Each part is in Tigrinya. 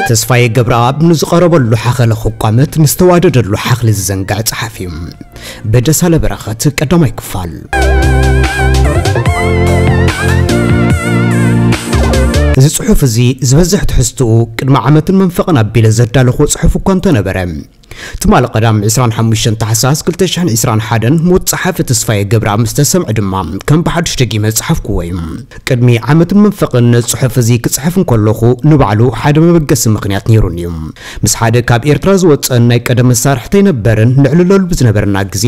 ተስፋዬ ገብረኣብ ንዝቐረበሉ ሓኸለ ክቋመት ንዝተዋደደሉ ሓኽሊ ዝዘንግዕ ጸሓፊ እዩ። በደሳለ በረኸት ቀዳማይ ክፋል። እዚ ጽሑፍ እዚ ዝበዝሕ ትሕዝትኡ ቅድሚ ዓመትን መንፈቕን ኣቢለ ዘዳለኹዎ ጽሑፍ እኳ እንተነበረ፣ ትማሊ ቀዳም ዕስራን ሓሙሽተን ታሕሳስ ክልተ ሽሕን ዕስራን ሓደን ሞት ጸሓፊ ተስፋዬ ገብረኣብ ምስ ተሰምዐ ድማ ከም ብሓድሽ ደጊመ ዝጸሓፍኩዎ እዩ። ቅድሚ ዓመትን መንፈቕን ነዚ ጽሑፍ እዚ ክጽሕፍ እንከለኹ ንባዕሉ ሓደ መበገሲ ምኽንያት ነይሩኒ እዩ። ምስ ሓደ ካብ ኤርትራ ዝወጸን ናይ ቀደም መሳርሕተይ ነበርን ንዕልለሉ ብዝነበረና ግዜ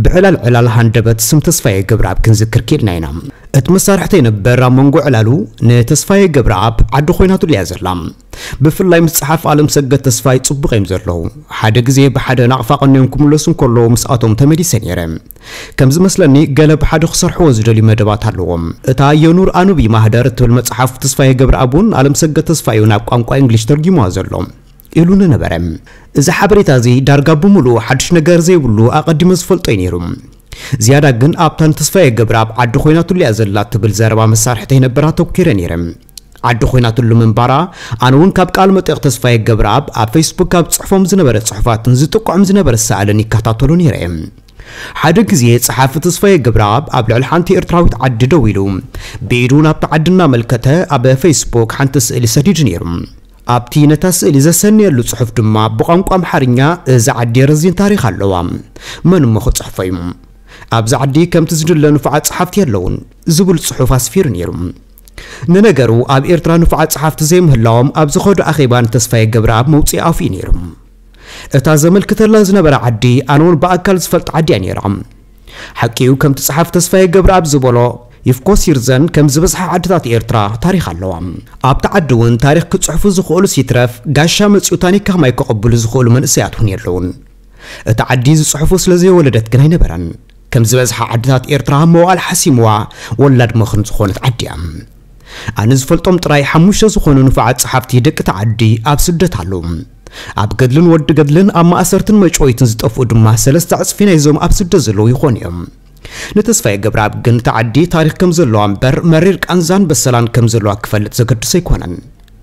ብዕላል ዕላል ሃንደበት ስም ተስፋዬ ገብረኣብ ክንዝክር ክኢልና ኢና። እቲ መሳርሕተይ ነበር ኣብ መንጎ ዕላሉ ንተስፋዬ ገብረኣብ ዓዲ ኮይናትሉ እያ ዘላ። ብፍላይ ምስ ጸሓፊ ኣለምሰገድ ተስፋይ ጽቡቕ እዮም ዘለዉ። ሓደ ግዜ ብሓደ ናቕፋ ቀንዮም ክምለሱ እንከለዉ ምስኣቶም ተመሊሰ ነይረ። ከም ዝመስለኒ ገለ ብሓደ ክሰርሕዎ ዝደልዩ መደባት ኣለዎም። እታ የኑር ኣኑቢ ማህደር እትብል መጽሓፍ ተስፋዬ ገብረኣብ እውን ኣለምሰገድ ተስፋይ እዩ ናብ ቋንቋ እንግሊሽ ተርጊምዋ ዘሎ ኢሉኒ ነበረ። እዚ ሓበሬታ እዚ ዳርጋ ብምሉኡ ሓድሽ ነገር ዘይብሉ ኣቐዲመ ዝፈልጦ እዩ ነይሩ። ዝያዳ ግን ኣብታ ንተስፋዬ ገብረኣብ ዓዲ ኮይናትሉ እያ ዘላ እትብል ዘረባ መሳርሕተይ ነበር ኣተኲረ ነይረ። ዓዲ ኮይናትሉ ምንባራ፣ ኣነ እውን ካብ ቃለ መጠይቕ ተስፋዬ ገብረኣብ ኣብ ፌስቡክ ካብ ዝጽሕፎም ዝነበረ ጽሑፋትን ዝጥቅዖም ዝነበረ ስእልን ይከታተሎ ነይረ እየ። ሓደ ግዜ ጸሓፊ ተስፋዬ ገብረኣብ ኣብ ልዕሊ ሓንቲ ኤርትራዊት ዓዲ ደው ኢሉ ብኢዱ ናብቲ ዓዲ እናመልከተ ኣብ ፌስቡክ ሓንቲ ስእሊ ሰዲዱ ነይሩ። ኣብቲ ነታ ስእሊ ዘሰነየሉ ጽሑፍ ድማ ብቋንቋ ኣምሓርኛ፣ "እዛ ዓዲ ረዚን ታሪኽ ኣለዋ፣ መን እሞ ክጽሕፎ እዩ? ኣብዚ ዓዲ ከምቲ ዝድለ ንፉዓት ጸሓፍቲ የለውን" ዝብል ጽሑፍ ኣስፊሩ ነይሩ። ንነገሩ ኣብ ኤርትራ ንፉዓት ጸሓፍቲ ዘይምህላዎም ኣብ ዝኸዶ ኣኼባ ንተስፋዬ ገብረኣብ መውጽኢ ኣፉ እዩ ነይሩ። እታ ዘመልክተላ ዝነበረ ዓዲ ኣነ እውን ብኣካል ዝፈልጥ ዓዲ እያ ነይራ። ሓቂኡ ከምቲ ጸሓፊ ተስፋዬ ገብረኣብ ዝበሎ ይፍኮስ ይርዘን ከም ዝበዝሓ ዓድታት ኤርትራ ታሪኽ ኣለዋ። ኣብቲ ዓዲ እውን ታሪኽ ክጽሕፉ ዝኽእሉስ ይትረፍ ጋሻ መጺኡ ታኒካ ማይ ከቐብሉ ዝኽእሉ መንእሰያት እውን የለውን። እቲ ዓዲ ዝጽሕፉ ስለ ዘይወለደት ግን ኣይነበረን። ከም ዝበዝሓ ዓድታት ኤርትራ መዋእል ሓሲምዋ ወላድ መኽን ዝኾነት ዓዲ እያ። ኣነ ዝፈልጦም ጥራይ ሓሙሽተ ዝኾኑ ንፉዓት ጸሓፍቲ ደቂ እቲ ዓዲ ኣብ ስደት ኣለዉ። ኣብ ገድልን ወዲ ገድልን ኣብ ማእሰርትን መጭወይትን ዝጠፍኡ ድማ ሰለስተ ዕጽፊ ናይዞም ኣብ ስደት ዘለዉ ይኾኑ እዮም። ንተስፋዬ ገብረኣብ ግን እቲ ዓዲ ታሪኽ ከም ዘለዋ እምበር መሪር ቃንዛን በሰላን ከም ዘለዋ ክፈልጥ ዘገድሶ ኣይኮነን።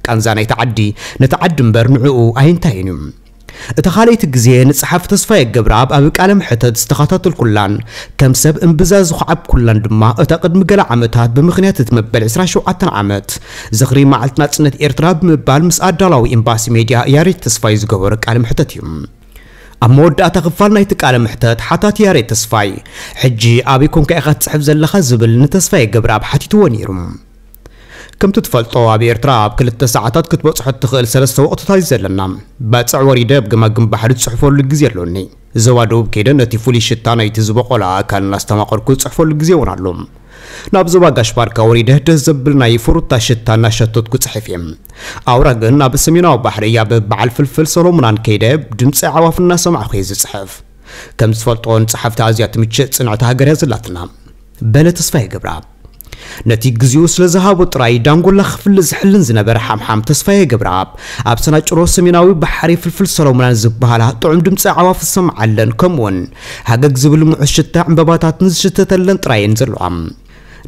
ቃንዛ ናይቲ ዓዲ ነቲ ዓዲ እምበር ንዕኡ ኣየንታዮን እዩ። እታ ካልኣይቲ ግዜ ንጸሓፊ ተስፋዬ ገብረኣብ ኣብ ቃለ መሕተት ዝተኸታተልኩላን ከም ሰብ እምብዛ ዝኹዓብኩላን ድማ እታ ቅድሚ ገለ ዓመታት ብምኽንያት እቲ መበል ዕስራን ሸውዓተን ዓመት ዝኽሪ መዓልቲ ናጽነት ኤርትራ ብምባል ምስ ኣዳላዊ ኤምባሲ ሜድያ ያሬድ ተስፋይ ዝገበሮ ቃለ መሕተት እዩ። ኣብ መወዳእታ ክፋል ናይቲ ቃለ መሕተት ሓታቲ ያሬድ ተስፋይ፣ "ሕጂ ኣበይ ኮንካ ኢኻ ትጽሕፍ ዘለኻ?" ዝብል ንተስፋዬ ገብረኣብ ሓቲትዎ ነይሩ። ከምቲ ትፈልጦ ኣብ ኤርትራ ኣብ ክልተ ሰዓታት ክትበጽሖ እትኽእል ሰለስተ ወቕትታት እዩ ዘለና። ባጽዕ ወሪደ ኣብ ገማግም ባሕሪ ዝጽሕፈሉ ግዜ ኣሎኒ። ዞባ ደቡብ ከይደ ነቲ ፍሉይ ሽታ ናይቲ ዝበቖለ ኣእካል እናስተማቐርኩ ዝጽሕፈሉ ግዜ እውን ኣሎ። ናብ ዞባ ጋሽ ባርካ ወሪደ ደስ ዘብል ናይ ፍሩታ ሽታ እናሸተትኩ ጽሕፍ እየ። ኣውራ ግን ኣብ ሰሜናዊ ባሕሪ ኣብ በዓል ፍልፍል ሰሎሙናን ከይደ ድምጺ ኣዕዋፍ እናሰማዕኹ እየ ዝጽሕፍ። ከም ዝፈልጦ ንጸሓፍቲ ኣዝያ ትምችእ ጽንዕቲ ሃገር እያ ዘላትና። በለ ተስፋዬ ገብረኣብ። ነቲ ግዜኡ ስለ ዝሃቦ ጥራይ ዳንጎላ ክፍሊ ዝሕልን ዝነበረ ሓምሓም ተስፋዬ ገብረኣብ፣ ኣብ ሰናጭሮ ሰሜናዊ ባሕሪ ፍልፍል ሰሎሙናን ዝበሃላ ጥዑም ድምጺ ኣዕዋፍ ዝሰምዓለን፣ ከምኡውን ሃገግ ዝብል ምዑስ ሽታ ዕምበባታትን ዝሽተተለን ጥራየን ዘለዋ።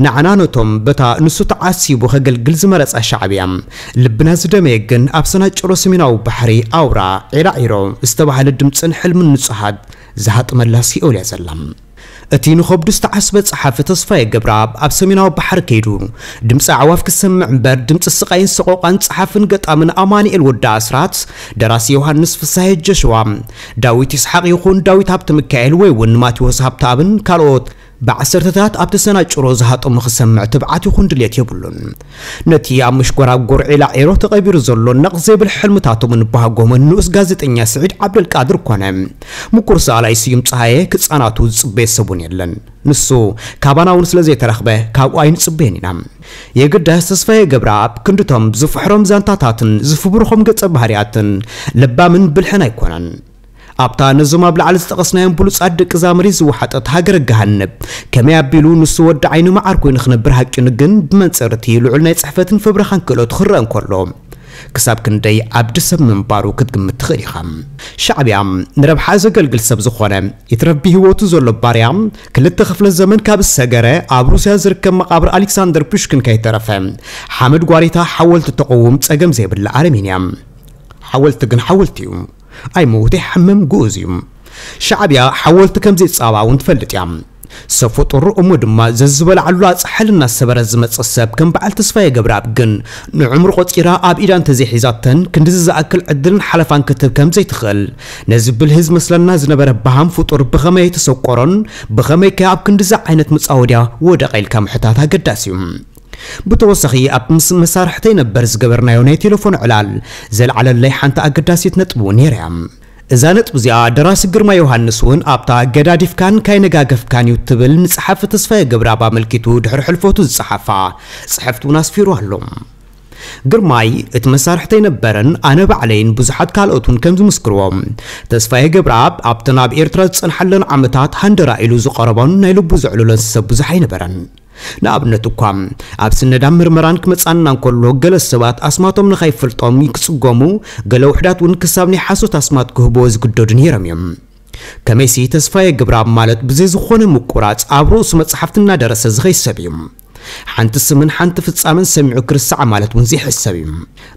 ንዓና ነቶም በታ ንሱ ተዓሲቡ ከገልግል ዝመረጻ ሻዕብያ፣ ልብና ዝደመየ ግን ኣብ ሰናጭሮ ሰሜናዊ ባሕሪ ኣውራ ዒላዒሮ ዝተባህለ ድምጽን ሕልምን ንጹሃት ዝሃጥመላ ሲኦል እያ ዘላ። እቲ ንኸብዱ ዝተዓስበ ጸሓፊ ተስፋዬ ገብረኣብ ኣብ ሰሜናዊ ባሕሪ ከይዱ ድምጺ ኣዕዋፍ ክሰምዕ እምበር ድምጺ ስቓይን ሰቆቓን ጸሓፍን ገጣምን ኣማኑኤል ወዲ ኣስራት፣ ደራሲ ዮሃንስ ፍስሃየ ጀሽዋ፣ ዳዊት ይስሓቕ ይኹን ዳዊት ሃብተ ሚካኤል ወይ እውን ማቴዎስ ሃብተኣብን ካልኦት ብዓሰርተታት ኣብቲ ሰናጭሮ ዝሃጠሙ ክሰምዕ ትብዓት ይኹን ድልየት የብሉን። ነቲ ኣብ ምሽጎራጎር ዒላ ዒሮ ተቐቢሩ ዘሎ ነቕ ዘይብል ሕልምታቶምን ባህጎምን ንኡስ ጋዜጠኛ ስዒድ ዓብደልቃድር ኮነ ምኩር ሰኣላይ ስዩም ጸሃየ ክጻናቱ ዝጽበየ ሰብ እውን የለን። ንሱ ካባና እውን ስለ ዘይተረኽበ ካብኡ ኣይንጽበዮን ኢና። የግዳስ ተስፋዬ ገብረኣብ ክንድቶም ዝፍሕሮም ዛንታታትን ዝፍብርኾም ገጸ ባህርያትን ለባምን ብልሕን ኣይኮነን። ኣብታ ነዞም ኣብ ላዕሊ ዝጠቐስናዮም ብሉጻት ደቂ እዛ መሬት ዝወሓጠት ሃገረ ገሃነብ፣ ከመይ ኣቢሉ ንሱ ወዲ ዓይኒ መዓር ኮይኑ ክነብር ሃቂኑ ግን፣ ብመንጽር እቲ ልዑል ናይ ጽሕፈትን ፍብረኻን ክእለቱ ክረአ እንከሎ፣ ክሳብ ክንደይ ዓብዲ ሰብ ምንባሩ ክትግምት ትኽእል ኢኻ። ሻዕብያ ንረብሓ ዘገልግል ሰብ ዝኾነ፣ ይትረፍ ብህይወቱ ዘሎ ባርያ፣ ክልተ ክፍለ ዘመን ካብ ዝሰገረ፣ ኣብ ሩስያ ዝርከብ መቓብር ኣሌክሳንደር ፑሽኪን ከይተረፈ፣ ሓመድ ጓሪታ ሓወልቲ ተቐውም ጸገም ዘይብላ ኣረሜን እያ። ሓወልቲ ግን ሓወልቲ እዩ። ኣይመውት ኣይሓምም ግኡዝ እዩ። ሻዕብያ ሓወልቲ ከም ዘይጻባ እውን ትፈልጥ እያ። ሰብ ፍጡር እሞ ድማ ዘዝበልዓሉ ኣጽሓል እናሰበረ ዝመጽእ ሰብ ከም በዓል ተስፋዬ ገብረኣብ ግን ንዕምሩ ቆጺራ ኣብ ኢዳ እንተዘይሒዛተን ክንድዚ ዝኣክል ዕድልን ሓለፋን ክትህብ ከም ዘይትኽእል ነዚ ብልህ ዝመስለና ዝነበረ በሃም ፍጡር ብኸመይ ኣይተሰቆሮን፣ ብኸመይ ከ ኣብ ክንድዚ ዓይነት መጻወድያ ወደቐ ኢልካ ምሕታት ኣገዳሲ እዩ። ብተወሳኺ ኣብ ምስ መሳርሕተይ ነበር ዝገበርናዮ ናይ ቴሌፎን ዕላል ዘልዓለለይ ሓንቲ ኣገዳሲት ነጥቢ እውን ነይራ እያ። እዛ ነጥቢ እዚኣ ደራሲ ግርማ ዮሃንስ እውን ኣብታ ገዳዲፍካን ካይነጋገፍካን እዩ ትብል ንጸሓፊ ተስፋዬ ገብረኣብ ኣመልኪቱ ድሕሪ ሕልፈቱ ዝጸሓፋ ጽሕፍቲ እውን ኣስፊሩ ኣሎ። ግርማይ እቲ መሳርሕተይ ነበረን ኣነ ባዕለይን ብዙሓት ካልኦት እውን ከም ዝምስክርዎ ተስፋዬ ገብረኣብ ኣብተን ኣብ ኤርትራ ዝጸንሓለን ዓመታት ሃንደራ ኢሉ ዝቐረቦን ናይ ልቡ ዘዕልሎን ሰብ ብዙሕ ኣይነበረን። ንኣብነት እኳ ኣብ ስነዳን ምርመራን ክመጻና እንከሎ ገለ ሰባት ኣስማቶም ንኸይፈልጦም ክጽገሙ፣ ገለ ውሕዳት እውን ክሳብ ናይ ሓሶት ኣስማት ክህብዎ ዝግደዱ ነይሮም እዮም። ከመይሲ ተስፋዬ ገብረኣብ ማለት ብዘይ ዝኾነ ምቁራጽ ኣብ ርእሱ መጽሓፍቲ እናደረሰ ዝኸይድ ሰብ እዩ። ሓንቲ ስምን ሓንቲ ፍጻመን ሰሚዑ ክርስዓ ማለት እውን ዘይሕሰብ እዩ።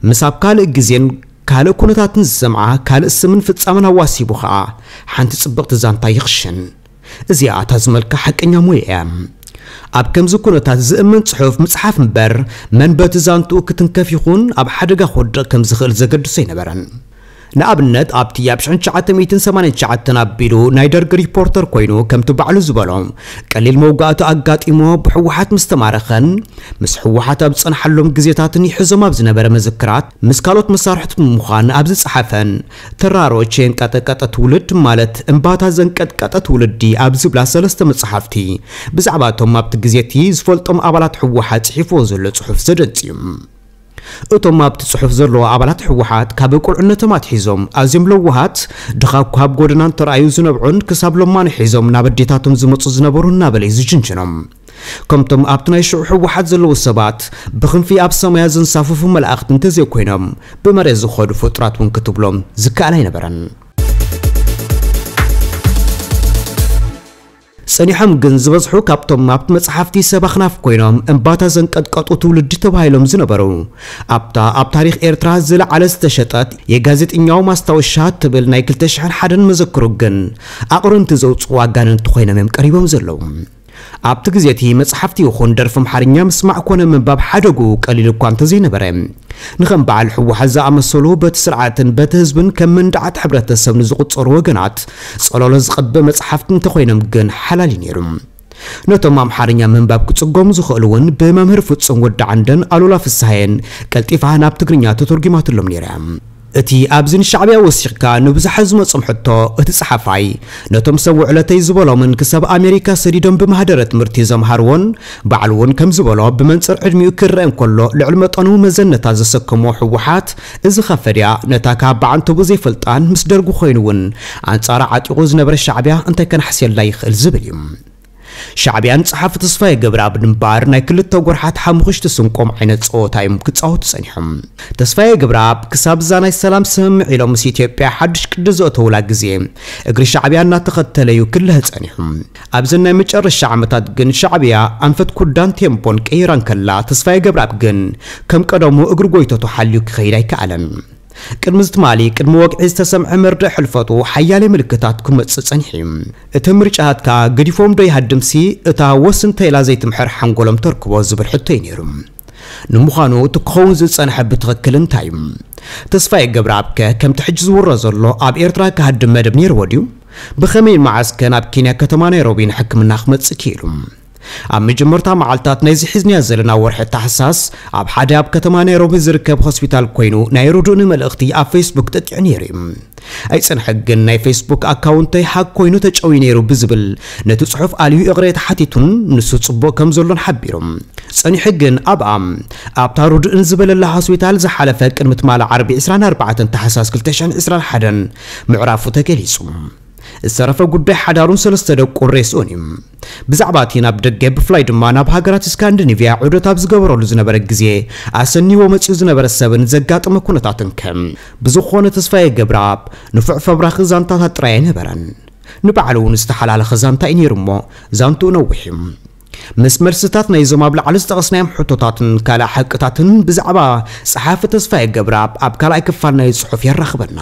ምስ ኣብ ካልእ ግዜን ካልእ ኩነታትን ዝሰምዓ ካልእ ስምን ፍጻመን ኣዋሲቡ ኸኣ ሓንቲ ጽብቕቲ ዛንታ ይኽሽን። እዚኣ እታ ዝመልካ ሓቀኛ ሞያ እያ። ኣብ ከምዚ ኩነታት ዝእመን ጽሑፍ ምጽሓፍ እምበር መን በቲ ዛንትኡ ክትንከፍ ይኹን ኣብ ሓደጋ ክወድቕ ከም ዝኽእል ዘገድሶ ኣይነበረን። ንኣብነት ኣብቲ ኣብ ሽሕን ትሽዓተ ሚእትን ሰማንያን ትሽዓተን ኣቢሉ ናይ ደርግ ሪፖርተር ኮይኑ ከምቲ ባዕሉ ዝበሎ ቀሊል መውጋእቲ ኣጋጢሞ ብህወሓት ምስ ተማረኸን ምስ ህወሓት ኣብ ዝጸንሓሎም ግዜታትን ይሕዞም ኣብ ዝነበረ መዘክራት ምስ ካልኦት መሳርሕቱ ብምዃን ኣብ ዝጸሓፈን ተራሮች የንቀጠቀጠ ትውልድ ማለት እምባታ ዘንቀጥቀጠ ትውልዲ ኣብ ዝብላ ሰለስተ መጽሓፍቲ ብዛዕባ እቶም ኣብቲ ግዜ እቲ ዝፈልጦም ኣባላት ህወሓት ጽሒፍዎ ዘሎ ጽሑፍ ዘደንጽ እዩ። እቶም ኣብቲ ጽሑፍ ዘለዉ ኣባላት ህወሓት ካብ ቁልዕነቶም ኣትሒዞም ኣዝዮም ለዋሃት፣ ድኻ እኳ ኣብ ጎደና እንተረኣዩ ዝነብዑን ክሳብ ሎማኒ ሒዞም ናብ ኣዴታቶም ዝመጹ ዝነበሩ እናበለ እዩ ዝጅንጅኖም። ከምቶም ኣብቲ ናይ ሽዑ ህወሓት ዘለዉ ሰባት ብክንፊ ኣብ ሰማያ ዘንሳፍፉ መላእኽቲ እንተዘይኮይኖም ብመሬት ዝኸዱ ፍጡራት እውን ክትብሎም ዝከኣል ኣይነበረን። ጸኒሖም ግን ዝበዝሑ ካብቶም ኣብቲ መጽሓፍቲ ሰብ ኣኽናፍ ኮይኖም እምባታ ዘንቀጥቀጡ ትውልዲ ተባሂሎም ዝነበሩ ኣብታ ኣብ ታሪኽ ኤርትራ ዝለዓለ ዝተሸጠት የጋዜጠኛው ማስታወሻ ትብል ናይ ክልተ ሽሕን ሓደን መዘክሩ ግን ኣቕርንቲ ዘውጽኡ ኣጋንንቲ ኮይኖም እዮም ቀሪቦም ዘለዉ። ኣብቲ ግዜ እቲ መጽሓፍቲ ይኹን ደርፊ ኣምሓርኛ ምስማዕ ኮነ ምንባብ ሓደጉ ቀሊል እኳ እንተዘይነበረ ንኸም በዓል ህወሓት ዝኣመሰሉ በቲ ስርዓትን በቲ ህዝብን ከም መንደዓት ሕብረተሰብ ንዝቑጸሩ ወገናት ጸለሎ ዝቐብእ መጽሓፍቲ እንተኾይኖም ግን ሓላል እዩ ነይሩ። ነቶም ኣምሓርኛ ምንባብ ክጽገሙ ዝኽእሉ እውን ብመምህር ፍጹም ወዲ ዓንደን ኣሉላ ፍስሃየን ቀልጢፋ ናብ ትግርኛ ተተርጒማትሎም ነይራ እያ። እቲ ኣብዚ ንሻዕብያ ወሲኽካ ንብዙሓት ዝመጾም ሕቶ እቲ ጸሓፋይ ነቶም ሰብ ውዕለተይ ዝበሎምን ክሳብ ኣሜሪካ ሰዲዶም ብማህደረ ትምህርቲ ዘምሃርዎን ባዕሉ እውን ከም ዝበሎ ብመንጽር ዕድሚኡ ክረአ እንከሎ ልዕሊ መጠኑ መዘነታ ዘሰከሞ ህወሓት እዚ ኸፈድያ ነታ ካብ በዓንተቡ ዘይፈልጣን ምስ ደርጉ ኮይኑ እውን ኣንጻራ ዓጢቑ ዝነበረ ሻዕብያ እንታይ ከናሕስየላ ይኽእል ዝብል እዩ። ሻዕብያን ጸሓፊ ተስፋዬ ገብረኣብን እምበኣር ናይ ክልተ ጎርሓት ሓሙኽሽቲ ስንቆም ዓይነት ጸወታ እዮም ክጻወቱ ጸኒሖም። ተስፋዬ ገብረኣብ ክሳብ እዛ ናይ ሰላም ስምምዕ ኢሎም ምስ ኢትዮጵያ ሓድሽ ቅዲ ዘእተውላ ግዜ እግሪ ሻዕብያ እናተኸተለ እዩ ክልህ ጸኒሑ። ኣብዘን ናይ መጨረሻ ዓመታት ግን ሻዕብያ ኣንፈት ኩዳን ቴምፖን ቀይራ እንከላ ተስፋዬ ገብረኣብ ግን ከም ቀደሙ እግሪ ጎይተቱ ሓልዩ ክኸይድ ኣይከኣለን። ቅድሚ እዚ ትማሊ ቅድሚ ወግዒ ዝተሰምዐ መርድእ ሕልፈቱ ሓያለ ምልክታት ክመጽእ ጸኒሑ እዩ። እቲ ምርጫታትካ ገዲፎም ዶ ይሃድምሲ እታ ወስ እንተ ኢላ ዘይትምሕር ሓንጎሎም ተርክቦ ዝብል ሕቶ እዩ ነይሩ። ንምዃኑ እቲ ክኸውን ዝጸንሐ ብትኽክል እንታይ እዩ? ተስፋዬ ገብረኣብከ ከምቲ ሕጂ ዝውረ ዘሎ ኣብ ኤርትራ ክሃድም መደብ ነይርዎ ድዩ? ብኸመይን መዓስከ ናብ ኬንያ ከተማ ናይሮቢ ንሕክምና ክመጽእ ክኢሉ? ኣብ መጀመርታ መዓልታት ናይዚ ሒዝናዮ ዘለና ወርሒ ታሕሳስ ኣብ ሓደ ኣብ ከተማ ናይሮቢ ዝርከብ ሆስፒታል ኮይኑ ናይ ርዱእኒ መልእኽቲ ኣብ ፌስቡክ ጠጢዑ ነይሩ እዩ። ኣይጸንሐ ግን ናይ ፌስቡክ ኣካውንተይ ሃክ ኮይኑ ተጨውዩ ነይሩ ብዝብል ነቲ ጽሑፍ ኣልዩ ይቕሬታ ሓቲቱን ንሱ ጽቡቕ ከም ዘሎን ሓቢሩ። ጸኒሑ ግን ኣብኣ ኣብታ ርዱእን ዝበለላ ሆስፒታል ዝሓለፈ ቅድሚ ትማሊ ዓርቢ ዕስራን ኣርባዕተን ታሕሳስ ክልተ ሽሕን ዕስራን ሓደን ምዕራፉ ተገሊጹ። ዝተረፈ ጉዳይ ሓዳሩን ሰለስተ ደቁን ሬስኡን እዩ። ብዛዕባ እቲ ናብ ደገ ብፍላይ ድማ ናብ ሃገራት ስካንዲኔቭያ ዑደት ኣብ ዝገበረሉ ዝነበረ ግዜ ኣሰኒዎ መጺኡ ዝነበረ ሰብን ዘጋጠመ ኩነታትን ከ ብዝኾነ ተስፋዬ ገብረኣብ ንፉዕ ፈብራኺ ዛንታታት ጥራይ ኣይነበረን። ንባዕሉ እውን ዝተሓላለኸ ዛንታ እዩ ነይሩ እሞ ዛንትኡ ነዊሕ እዩ። ምስ መልስታት ናይዞም ኣብ ላዕሊ ዝጠቐስናዮም ሕቶታትን ካልእ ሓቅታትን ብዛዕባ ጸሓፊ ተስፋዬ ገብረኣብ ኣብ ካልኣይ ክፋል ናይ ጽሑፍ የራኽበና።